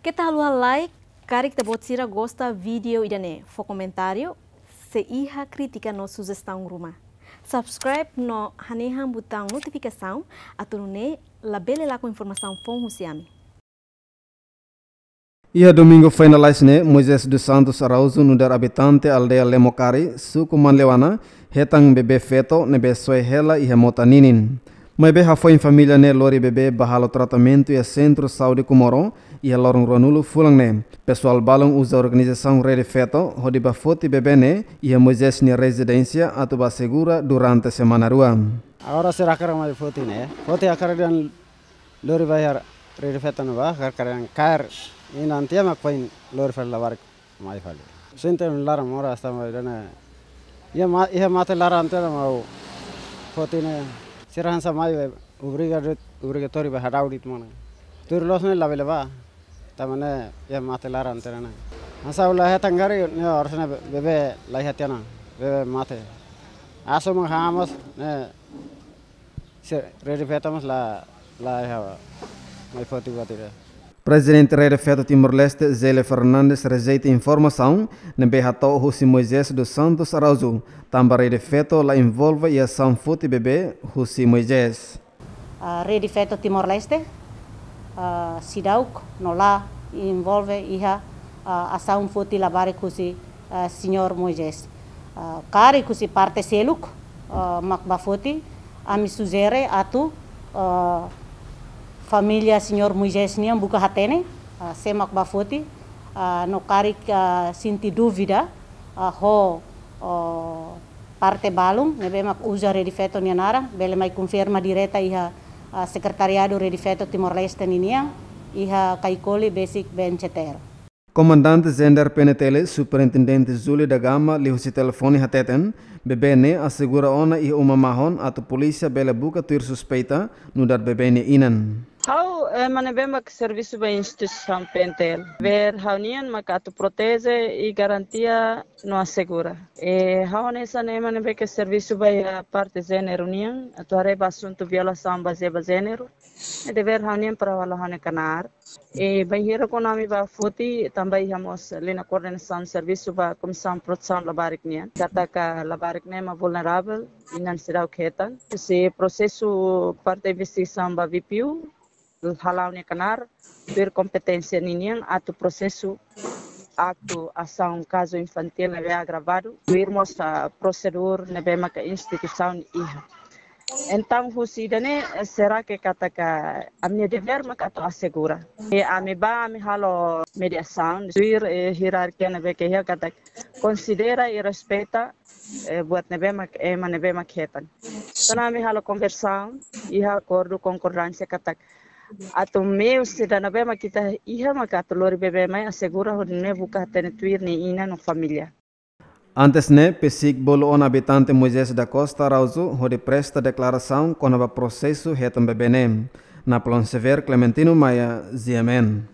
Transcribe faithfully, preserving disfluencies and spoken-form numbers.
Keta haluha like, karik ita-boot sira gosta vídeo ida-ne'e, fó komentáriu, se iha krítika no sujestaun ruma. Subscribe no hanehan butaun notifikasaun, atu nune'e labele lakon informasaun foun husi ami. Iha domingu foin lalais ne'e, Moisés dos Santos Araújo nu'udar abitante aldeia Lemokari, suku Manleuana, hetan bebé feto ne'ebé soe hela iha mota ninin. Maibé hafoin família ne'e lori bebé ba halo tratamentu iha Sentru Saúde Comoro, iha loron ruanulu fulan ne'e. Pesoál balun uza organizasaun Rede Feto hodi bá foti bebé ne'e iha Moisés nia rezidénsia atu bá asegura durante semana rua. Agora sira hakarak mai foti ne'e. Foti hakarak dehan lori ba iha Rede Feto ne'ebá, hakarak dehan kaer inan tiha mak foin lori fali labarik mai fali. Sente laran moras tanba ida-ne'e. Iha ma-, iha mate laran tiha mak foti ne'e. Sira hanesan mai be obriga de'it, obrigatóriu be hadau de'it mane. Tuir loos ne'e labele bá. Tanba ne'e iha mate laran tiha ona. Hanesan ha'u la hetan karik ne'e harusnya be-, bebé la iha tiha ona. Bebé mate. Asu mak hamoos ne'e se Rede Feto mós la, la iha mai foti buat ida. Prezidente Rede Feto Timor-Leste, Zélia Fernandes, rejeita informasaun ne'ebé hato'o husi Moisés dos Santos Araújo, tanba Rede Feto la envolve iha asaun foti bebé husi Moisés. Ah, Rede Feto Timor-Leste, ah, seidauk no la envolve iha, ah, asaun foti labarik husi, ah, Señór Moisés. Ah, karik husi parte seluk, ah, mak bá foti, ami sujere atu, ah, família Señór Moisés nian buka hatene, ah, sé mak bá foti, ah, no karik, ah, sente dúvida, ah, ho, oh, parte balun ne'ebé mak uza Rede Feto nia naran, bele mai konfirma direta iha, ah, Sekretariadu Rede Feto Timor-Leste ninian, iha Caicoli besik B N C T R. Komandante Zender P N T L, Superintendente Júlio da Gama, liuhusi telefone hateten, bebé ne'e asegura ona iha uma mahon atu polísia bele buka tuir suspeita nu'udar bebé nia inan. Ha'u, eh, ema ne'ebé mak servisu ba instituisaun P N T L. Devér ha'u-nian mak atu proteje i garantia no asegura. Eh, ha'u hanesan ema ne'ebé ke servisu ba iha parte jéneru nian, atu haree ba asuntu violasaun bazeia ba jéneru. Eh, devér ha'u-nian para halo ha'u-nia knaar. Eh, bainhira kuandu ami bá foti, tanba iha mós liña koordenasaun servisu ba Komisaun Protesaun Labarik nian. Katak labarik ne'e mak vulneravel, inan seidauk hetan. Husi prosesu parte investigasaun ba V P U, hala'o nia knaar, tuir kompeténsia ninian atu prosesu aktu asaun kazu infantíl ne'ebé agravadu, tuir mós, ah, prosedur ne'ebé maka instituisaun iha. Entaun, husi ida-ne'e, será ke katak ami-nia devér maka atu asegura. I ami bá, ami halo mediasaun, tuir, eh, hierarkia ne'ebé ke iha katak konsidera i respeita, eh, buat ne'ebé mak, ema ne'ebé mak hetan. Entaun ami halo konversaun, iha akordu konkordánsia katak atu meius ida ne'ebé mak ita iha maka atu lori bebé mai asegura hodi nune'e buka hatene tuir nia inan no família. Antes ne'e, PCIC bolu ona abitante Moisés da Costa Araújo hodi presta deklarasaun kona-ba prosesu hetan bebé ne'e. Napoleão Xavier, Clementino Maia, G M N.